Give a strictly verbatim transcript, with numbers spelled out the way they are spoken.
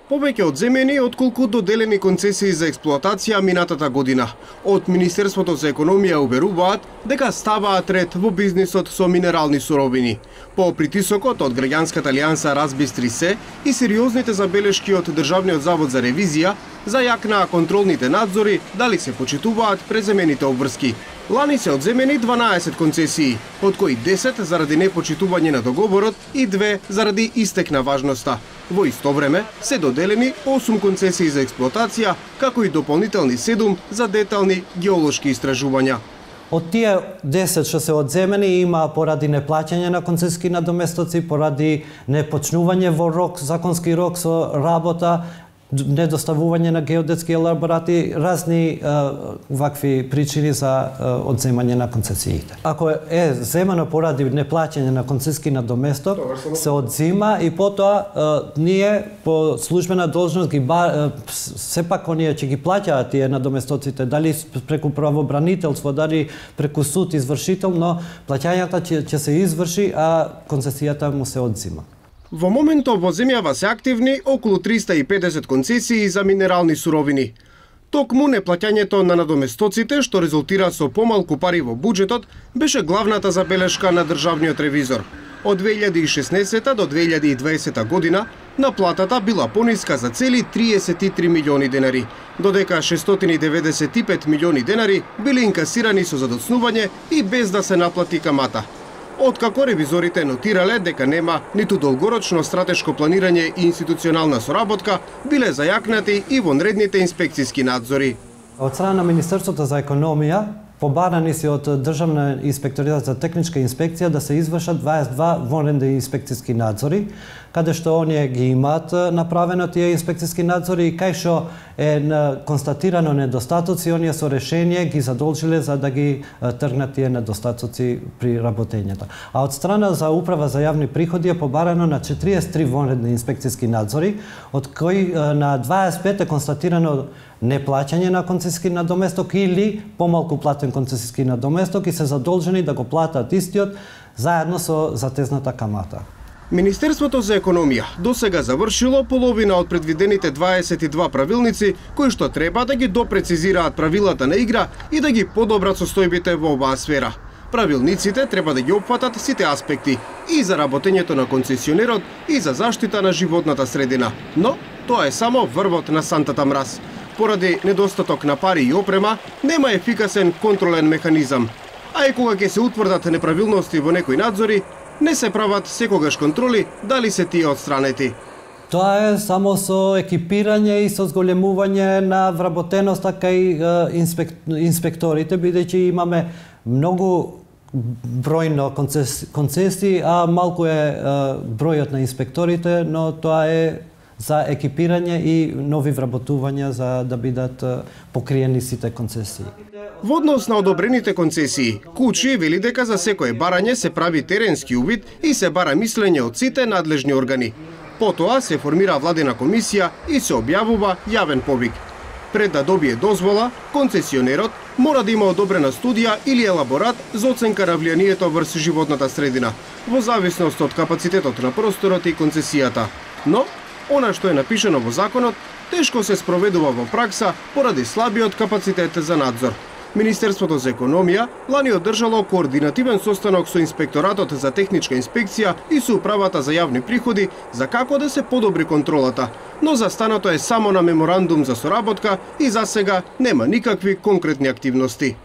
Повеќе одземени отколку доделени концесии за експлоатација минатата година. Од Министерството за економија уверуваат дека ставаат ред во бизнисот со минерални суровини. По притисокот од граѓанската алијанса Разбистри се и сериозните забелешки од Државниот завод за ревизија зајакнаа контролните надзори дали се почитуваат преземените обврски. Лани се одземени дванаесет концесии, од кои десет заради непочитување на договорот и две заради истек на важноста. Во исто време се доделени осум концесии за експлоатација, како и дополнителни седум за детални геолошки истражувања. Од тие десет што се одземени има поради неплаќање на концесиски надоместоци, поради непочнување во рок, законски рок со работа, недоставување на геодетски елаборати, разни uh, вакви причини за uh, одземање на концесиите. Ако е земано поради неплаќање на концесиски надоместок, се одзима и потоа uh, ние по службена должност ги ба, uh, сепак оние ќе ги плаќаат тие надоместоците, дали преку правобранителство, дали преку суд извршител, но плаќањата ќе, ќе се изврши, а концесијата му се одзима. Во моментов во земјава се активни околу триста и педесет концесии за минерални суровини. Токму неплаќањето на надоместоците, што резултира со помалку пари во буџетот, беше главната забелешка на државниот ревизор. Од две илјади и шеснаесета до две илјади и дваесета година наплатата била пониска за цели триесет и три милиони денари, додека шестстотини и деветдесет и пет милиони денари били инкасирани со задоцнување и без да се наплати камата. Откако ревизорите нотирале дека нема ниту долгорочно стратешко планирање и институционална соработка, биле зајакнати и вонредните инспекциски надзори. Од страна на Министерството за економија, побарани се од Државна инспекторат за техничка инспекција да се извршат дваесет и два вонредни инспекциски надзори, каде што оние ги имаат направено тие инспекциски надзори и кај што е констатирано недостатоци, оние со решение ги задолжиле за да ги тргнат тие недостатоци при работењето. А од страна за Управа за јавни приходи е побарано на четириесет и три вонредни инспекциски надзори, од кои на дваесет и пет е констатирано неплаќање на концесиски надоместок или помалку платен концесиски надоместок и се задолжени да го платат истиот заедно со затезната камата. Министерството за економија досега завршило половина од предвидените дваесет и два правилници кои што треба да ги допрецизираат правилата на игра и да ги подобрат состојбите во оваа сфера. Правилниците треба да ги опфатат сите аспекти и за работењето на концесионерот и за заштита на животната средина, но тоа е само врвот на сантата мраз. Поради недостаток на пари и опрема, нема ефикасен контролен механизам. А и кога ќе се утврдат неправилности во некои надзори, не се прават секогаш контроли дали се тие отстранети. Тоа е само со екипирање и со зголемување на вработеноста кај инспек... инспекторите, бидејќи имаме многу бројно концесии, а малку е бројот на инспекторите, но тоа е за екипирање и нови вработувања за да бидат покриени сите концесии. Во однос на одобрените концесии, Кучи вели дека за секое барање се прави теренски увид и се бара мислење од сите надлежни органи. Потоа се формира владена комисија и се објавува јавен повик. Пред да добие дозвола, концесионерот мора да има одобрена студија или елаборат за оценка на влијанието врз животната средина, во зависност од капацитетот на просторот и концесијата. Но она што е напишано во законот, тешко се спроведува во пракса поради слабиот капацитет за надзор. Министерството за економија лани одржало координативен состанок со Инспекторатот за техничка инспекција и со Управата за јавни приходи за како да се подобри контролата, но застанато е само на меморандум за соработка и засега нема никакви конкретни активности.